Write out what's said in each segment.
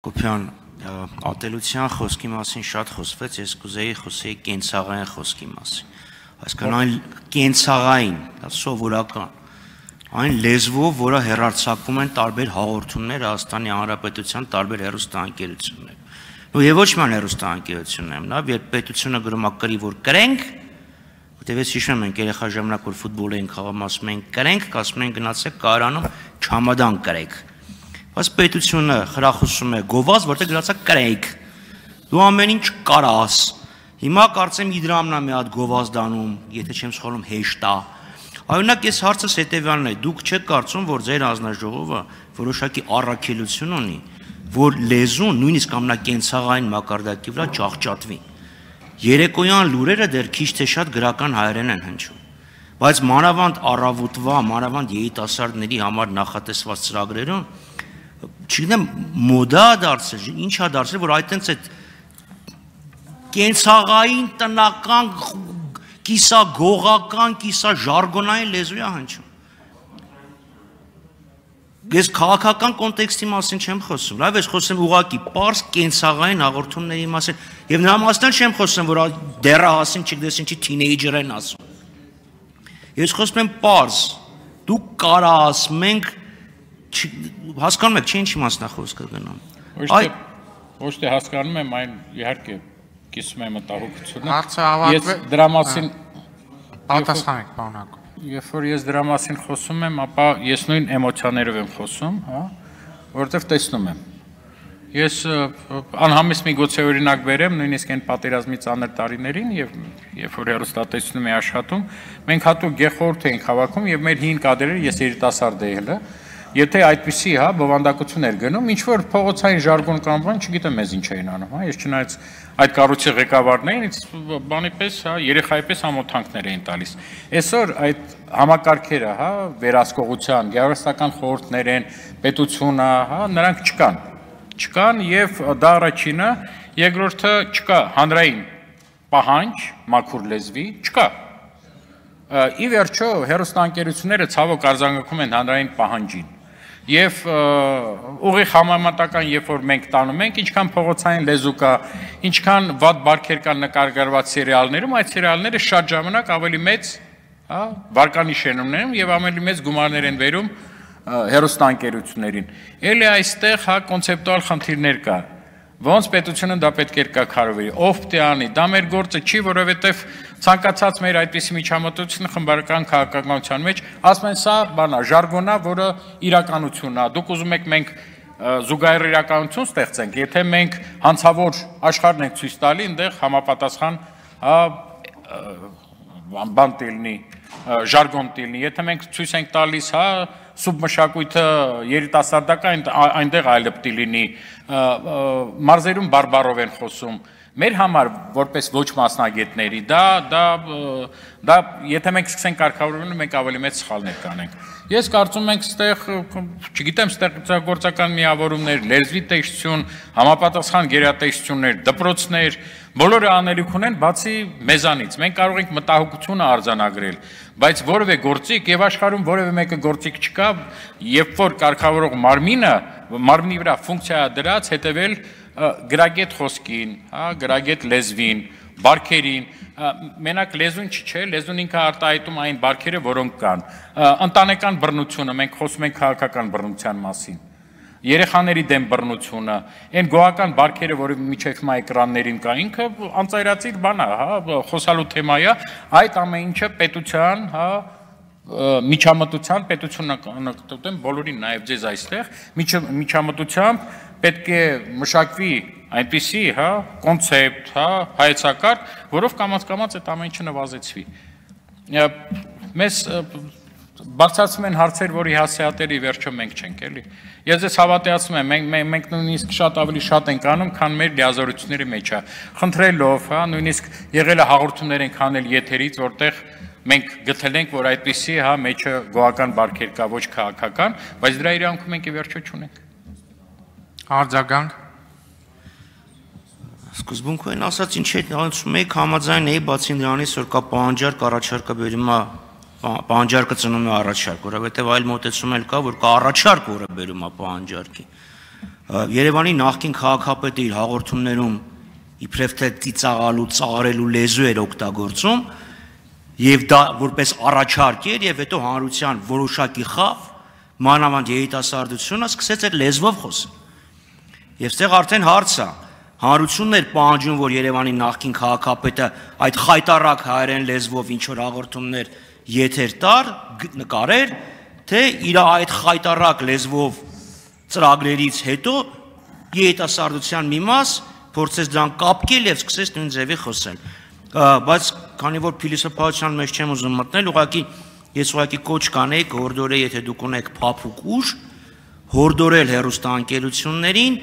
Կոպյան ատելության խոսքի մասին շատ խոսվեց, ես կուզեի խոսեի կենցաղային խոսքի մասին, այսքան այն կենցաղային, սովորական, այն լեզվով, որը հեռարձակվում են տարբեր հաղորդումներ Հայաստանի Հանրապետության տարբեր հեռուստաընկերություններ, եւ ոչ միայն հեռուստաընկերություններում, երբ պետությունը գրում է կրի, որ կրենք, որտեղ ես հիշում եմ երեխա ժամանակ որ ֆուտբոլ էինք խաղում, ասում են կրենք, ասում են գնացեք կարանում չամադան կրեք։ Բայց պետությունը խրախուսում է գովազ, որտեղ գրած է կրեք, դու ամեն ինչ կարաս, հիմա կարծեմ Իդրամն է մի հատ գովազ դանում, եթե չեմ սխալվում հեշտ է, օրինակ ես հարցս հետևյալն է, դուք չեք կարծում, որ ձեր հանձնաժողովը որոշակի առաքելություն ունի, որ լեզուն նույնիսկ ամենակենցաղային մակարդակի վրա ջախջատվի, երեկոյան լուրերը դեռ քիչ թե շատ գրական հայերեն են հնչում, բայց մանավանդ առավոտվա, մանավանդ երիտասարդների համար նախատեսված ծրագրերում չգիտեմ, մոդա դարձել, ինչ է դարձել, որ այդտենց այդ կենցաղային, տնական, կիսագողական, կիսաժարգոնային լեզու է հնչում։ Ես քաղաքական կոնտեքստի մասին չեմ խոսում, լավ ես խոսում ուղղակի պարզ կենցաղային հաղորդումների մասին, եւ նրա մասին չեմ խոսում, որ դեռահասին չգիտես ինչի թինեյջեր են ասում։ Ես խոսում եմ պարզ, դու կարաս, մենք հասկանում եք, չի ինչ իմաստնա խոսքը գնում։ Ոչ թե հասկանում եմ, այն իհարկե կիսում եմ մտահոգությունը։ Հարցը ավարտվել։ Ես դրա մասին պատասխանեք, պարոն։ Երբ որ ես դրա մասին խոսում եմ, ապա ես նույն էմոցիաներով եմ խոսում, հա, որովհետև տեսնում եմ։ Ես անհամես մի գուցե օրինակ բերեմ, նույնիսկ այն պատերազմի ծանր տարիներին եւ երբ որ հեռուստատեսությունում էի աշխատում, մենք հատուկ գեխորհուրդ էինք հավաքում եւ մեր հին կադրերը, ես երիտասարդ էի հələ, եթե այդպիսի, հա, բովանդակություն էր գնում, ինչ որ փողոցային ժարգոն կամ բան, չգիտեմ մեզ ինչ էին անում, հա, ես չնայած այդ կառույցի ղեկավարն էին, ինձ բանի պես, հա, երեխայի պես ամոթանքներ էին տալիս։ Այսօր այդ համակարգերը, հա, վերահսկողության, գեղարվեստական խորհուրդներ են, պետությունը, հա, նրանք չկան եւ դա առաջինը, երկրորդը չկա հանրային պահանջ, մաքուր լեզվի, չկա։ Ի վերջո հեռուստաընկերությունները ցավոք արձագանքում են հանրային պահանջին։ Եվ ուղիղ համեմատական, երբ որ մենք տանում ենք, ինչքան փողոցային լեզու կա, ինչքան վատ բարքեր կան նկարագրված սերիալներում, այդ սերիալները շատ ժամանակ ավելի մեծ, հա, վարկանիշ են ունենում եւ ավելի մեծ գումարներ են բերում հեռուստաընկերություններին։ Էլի այստեղ, հա, կոնցեպտուալ խնդիրներ կա։ Ոնց պետությունը դա պետք է կարգավորվի, ով պետք է անի, դա մեր գործը չի, որովհետև ցանկացած մեր այդպիսի միջամտությունը խմբարական քաղաքականության մեջ, ասում են սա բանա, ժարգոնա, որը իրականությունն է, դուք ուզում եք մենք զուգահեռ իրականություն ստեղծենք, եթե մենք հանցավոր աշխարհն ենք ցույց տալի, այնտեղ համապատասխան, հա, բան տելնի, ժարգոն տելնի, եթե մենք ցույց ենք տալիս, հա, սուբմշակույթը երիտասարդական, այնտեղ այլ պիտի լինի, մարզերում բարբարով են խոսում, մեր համար որպես ոչ մասնագետների, դա եթե մենք սկսենք կարգավորել, մենք ավելի մեծ սխալներ կանենք։ Ես կարծում եմ ստեղ, չգիտեմ, ստեղծագործական միավորումներ, լեզվի տեսություն, համապատասխան գերատեսչություններ, դպրոցներ, բոլորը անելիք ունեն, բացի մեզանից։ Մենք կարող ենք մտահոգությունը արձանագրել, բայց որևէ գործիք եւ աշխարհում որևէ մեկը գործիք չկա, երբ որ կարգավորող մարմնի վրա ֆունկցիա դրած հետեւել գրագետ խոսքին, հա, գրագետ լեզվին, բարքերին, մենակ լեզուն չէ, լեզուն ինքը արտահայտում այն բարքերը, որոնք կան։ Ընտանեկան բռնությունը, մենք խոսում ենք քաղաքական բռնության մասին։ Երեխաների դեմ բռնությունը, այն գոհական բարքերը, որը միջև հիմա էկրաններին կա, ինքը անծայրածիր բան է, հա, խոսալու թեմա է, այդ ամեն ինչը պետության, հա, միջամտության, պետությունն բոլորին նաև ձեզ այստեղ, միջամտությամբ պետք է մշակվի այնպիսի, հա, կոնցեպտ, հա, հայեցակարգ, որով կամաց-կամաց այդ ամեն ինչը նվազեցվի։ Մեզ բարձրացում են հարցեր, որի հասցեատերը ի վերջո մենք չենք, էլի։ Ես ձեզ հավատացնում եմ, մենք նույնիսկ շատ ավելի շատ ենք անում, քան մեր լիազորությունների մեջ է։ Խնդրելով, հա, նույնիսկ եղել է հաղորդումներ ենք անել եթերից, որտեղ մենք գտել ենք, որ այդպիսի, հա, մեջը գոհական բարքեր կա, ոչ քաղաքական, բայց դրա իրավունքը մենք ի վերջո չունենք։ Արձագանք։ Սկզբունքորեն ասած, ինչ է ասում եք, համաձայն էի, բացի նրանից, որ կա պահանջարկ, առաջարկը բերում է, պահանջարկը ծնում է առաջարկ, որովհետև այլ մոտեցում էլ կա, որ կա առաջարկ, որը բերում է պահանջարկի։ Երևանի նախկին քաղաքապետը իր հաղորդումներում իբրև թե ծիծաղալու, ծաղրելու լեզու էր օգտագործում եւ դա որպես առաջարկ էր եւ հետո հանրության որոշակի խավ մանավանդ երիտասարդությունը սկսեց այդ լեզվով խոսել։ Եվ ստեղ արդեն հարց է, հանրությունն էր պահանջում, որ Երևանի նախկին քաղաքապետը այդ խայտառակ հայերեն լեզվով ինչ որ հաղորդումներ եթեր տար, նկարեր, թե իր այդ խայտառակ լեզվով ծրագրերից հետո երիտասարդության մի մաս փորձեց դրան կապկել եւ սկսեց նույն ձևի խոսել։ Բայց քանի որ փիլիսոփայության մեջ չեմ ուզում մտնել, ես ուղղակի կոչ կանեի հորդորել, եթե դուք ունեք փափուկ ուժ, հորդորել հեռուստաընկերություններին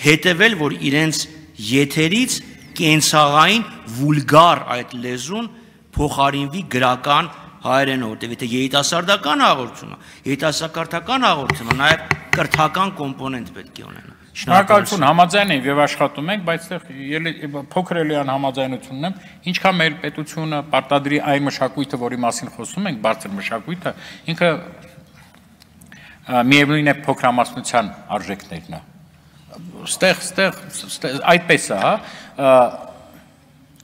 հետևել, որ իրենց եթերից կենցաղային վուլգար այդ լեզուն փոխարինվի գրական հայերենով, որտեղ եթե երիտասարդական հաղորդումը, երիտասարդական հաղորդումը նաև կրթական կոմպոնենտ պետք է ունենա։ Շնորհակալություն, համաձայն եմ եւ աշխատում ենք, բայց այստեղ փոքր էլիան համաձայնությունն եմ, ինչքան մեր պետությունը պարտադրի այն մշակույթը, որի մասին խոսում ենք, բարձր մշակույթը, ինքը միևնույն է փոքրամասնության արժեքներն է։ Ստեղ այդպես է, հա,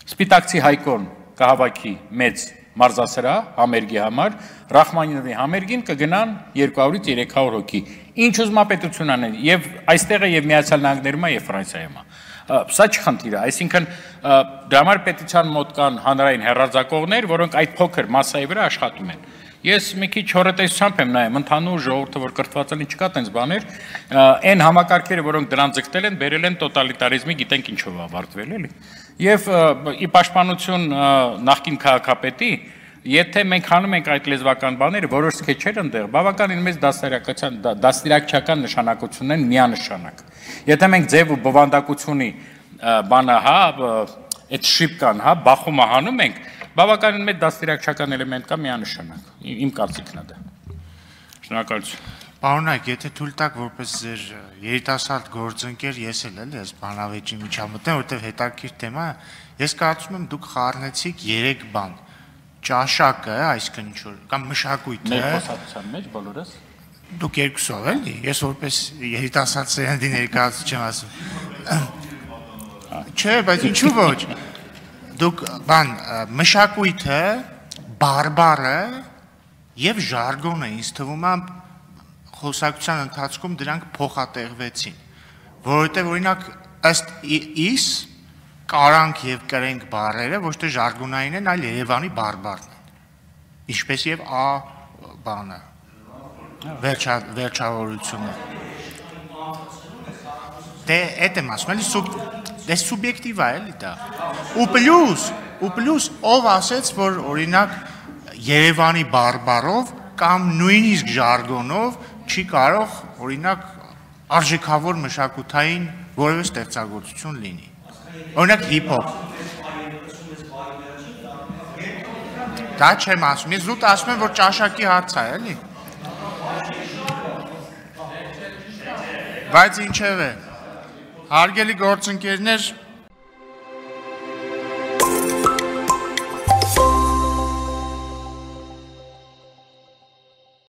Սպիտակցի Հայկոն կհավաքի մեծ մարզասրահ համերգի համար, Ռախմանինովի համերգին կգնան 200-ից 300 հոգի։ Ինչ ուզմապետություն անեն, եւ այստեղ է եւ Միացյալ Նահանգներում է եւ Ֆրանսիայում է։ Սա չխնդիր է, այսինքն դրա համար պետության մոտ կան հանրային հեռարձակողներ, որոնք այդ փոքր մասայի վրա աշխատում են։ Ես մի քիչ հորետեսությամբ եմ նայում, ընդհանուր ժողովուրդը, որ կրթված են, չկա տենց բաներ, այն համակարգերը, որոնք դրան ձգտել են, բերել են տոտալիտարիզմի, գիտենք ինչով ավարտվել, էլի։ Եւ ի պաշտպանություն նախկին քաղաքապետի, եթե մենք անում ենք այդ լեզվական բաները, որոշ սքեչեր ընդեղ, բավականին մեծ դաստիարակչական նշանակություն են միանշանակ։ Եթե մենք ձև ու բովանդակությունի բանը, հա, այդ շիպկան, հա, բախումը հանում ենք, բավականին մեծ դաստիարակչական էլեմենտ կա միանշանակ։ Իմ կարծիքն է դա։ Շնորհակալություն։ Պարոնայք, եթե թույլ տաք որպես ձեր երիտասարդ գործընկեր, ես էլ ես բանավեճի միջամտեմ, որտեղ հետաքրքիր թեմա է, ես կարծում եմ դուք խառնեցիք 3 բան։ Ճաշակը, այսինքն ինչ որ կամ մշակույթը։ Մեր խոսակցության մեջ բոլորս։ Դուք երկուսով էլի, ես որպես երիտասարդ սերնդի ներկայացուցիչ չեմ ասում։ Չէ, բայց ինչու ոչ։ Դուք բան մշակույթը, բարբառը եւ ժարգոնը ինձ թվում է խոսակցության ընթացքում դրանք փոխատեղվեցին, որովհետև օրինակ ըստ իս կարանք եւ կրենք բառերը ոչ թե ժարգոնային են, այլ Երևանի բարբառն են, ինչպես եւ ա բանը, վերջավորությունը։ Դե այդ եմ ասում, էլի դե սուբյեկտիվ է էլի դա։ Ու պլյուս ով ասեց, որ օրինակ Երևանի բարբառով կամ նույնիսկ ժարգոնով չի կարող օրինակ արժեքավոր մշակութային որևէ ստեղծագործություն լինի։ Օրինակ հիփ-հոփ։ Դա չեմ ասում, ես զուտ ասում եմ, որ ճաշակի հարց է, էլի։ Բայց ինչև է, հարգելի գործընկերներ,